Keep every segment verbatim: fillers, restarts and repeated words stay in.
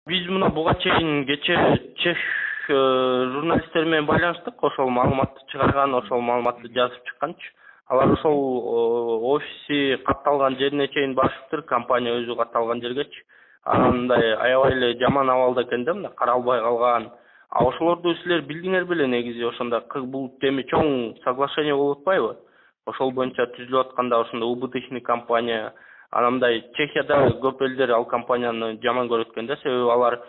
Биз мына буга чейин кече чех журналисттери менен байланыштык, ошол маалыматты чыгарган, ошол маалыматты жазып чыкканчы. Алар ошол офиси катталган жерине чейин барышыптыр, компания өзү катталган жергечи. Анан мындай аябай эле жаман абалда экен да, мындай каралбай калган. А ошолорду силер билдиңер беле негизи ошондо бул эми чоң соглашение болуп атпайбы? Ошол боюнча түзүлүп атканда ошондо убыточный компания. Анан мындай Чехияда көп элдер ал компанияны жаман көрөт экен да, себеби алар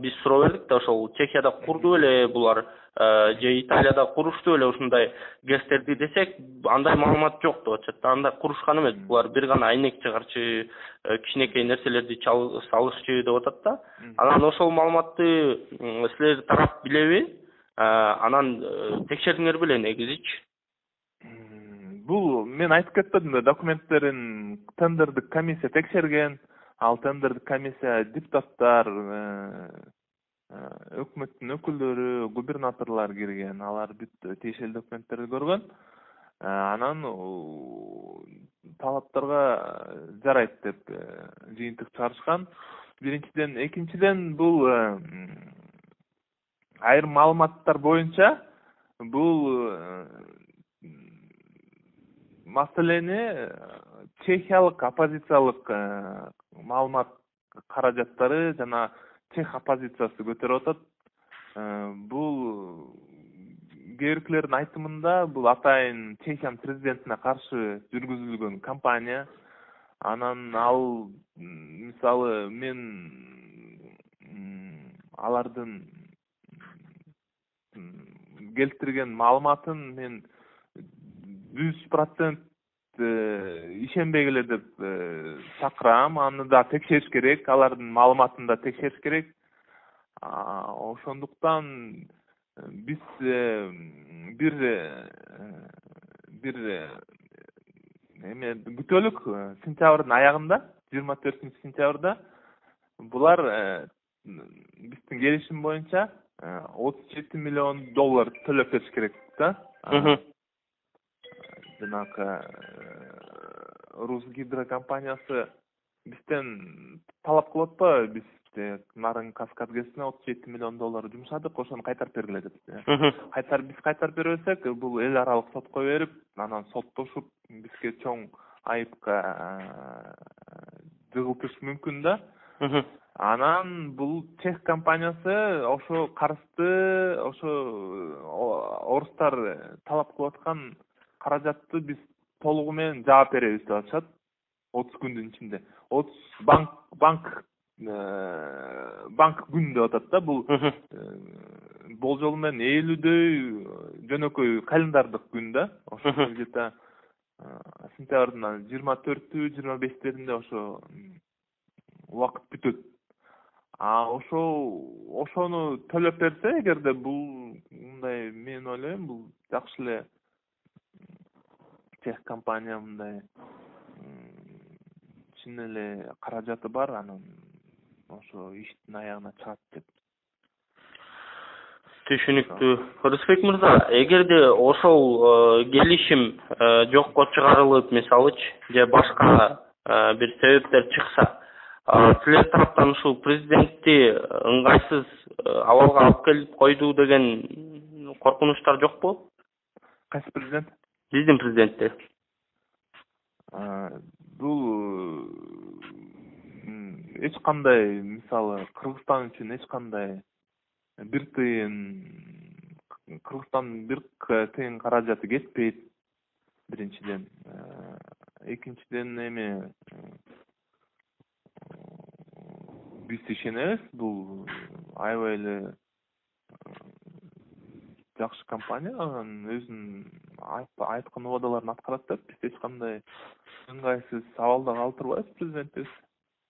биз суроо бердик да, ошол Чехияда курду беле булар же Италияда курушту беле ушундай гэстерди десек, андай маалымат жок деп атышат. Андай курушкан эмес, булар бир гана айнек чыгарчы, кичинекей нерселерди салышчы деп атат да. Анан ошол маалыматты силер тарап билеби? Анан текшердиңер беле негизичи? Бул мен айтып кетпедим да, документтерин тендердик комиссия текшерген. Ал тендердик комиссия депутаттар, өкмөттүн өкүлдөрү, губернаторлор кирген. Алар бүт тиешелүү документтерди көргөн. Анан талаптарга жарайт деп жыйынтык чыгарышкан. Биринчиден, экинчиден бул айрым маалыматтар боюнча бул маселени чехиялык оппозициялык маалымат каражаттары жана чех оппозициясы көтөрүп атат. Бул кээ биркилердин айтымында бул атайын Чехиянын президентине каршы жүргүзүлгөн кампания. Анан ал мисалы мен алардын келтирген маалыматын мен жүз процент ишенбей эле деп чакырам. Аны да текшериш керек, алардын маалыматын да текшериш керек. Ошондуктан биз бир бир эме күтөлүк, сентябрдын аягында, жыйырма төртүнчү сентябрда булар биздин келишим боюнча отуз жети миллион доллар төлөп бериш керек да. Жанагы Русгидро компаниясы бизден талап кылып атпайбы? Биз Нарын Каскад ГЭСине отуз жети миллион доллар жумшадык, ошону кайтарып бергиле деп. Кайтар биз кайтарып бербесек, бул эл аралык сотко берип, анан соттошуп, бизге чоң айыпка жыгылтыш мүмкүн да. Анан бул чех компаниясы ошо карызды, ошо орустар талап кылып аткан каражатты биз толугу менен жаап беребиз деп атышат. отуз күндүн ичинде. отуз банк банк банк күн деп атат да. Бул болжол менен элүүдөй жөнөкөй календардык күн да. Ошо где-то сентябрдын жыйырма төртү, жыйырма бештеринде ошо убакыт бүтөт. А ошо ошону төлөп берсе, эгерде бул мындай, мен ойлойм, бул жакшы эле чех компания мындай чын эле каражаты бар, анан ошо иштин аягына чыгат деп. Түшүнүктүү. Рысбек мырза, эгерде ошол келишим жокко чыгарылып, мисалычы, же башка бир себептер чыкса, силер тараптан ушул президентти ыңгайсыз абалга алып келип койду деген коркунучтар жокпу? Кайсы президент? Биздин президентти. Бул эч кандай, мисалы, Кыргызстан үчүн эч кандай бир тыйын, Кыргызстан бир тыйын каражаты кетпейт, биринчиден. Экинчиден, эми биз ишенебиз, бул аябай эле жакшы компания, анан өзүнүн айткан убадаларын аткарат деп, биз эч кандай ыңгайсыз абалда калтырбайбыз президентти.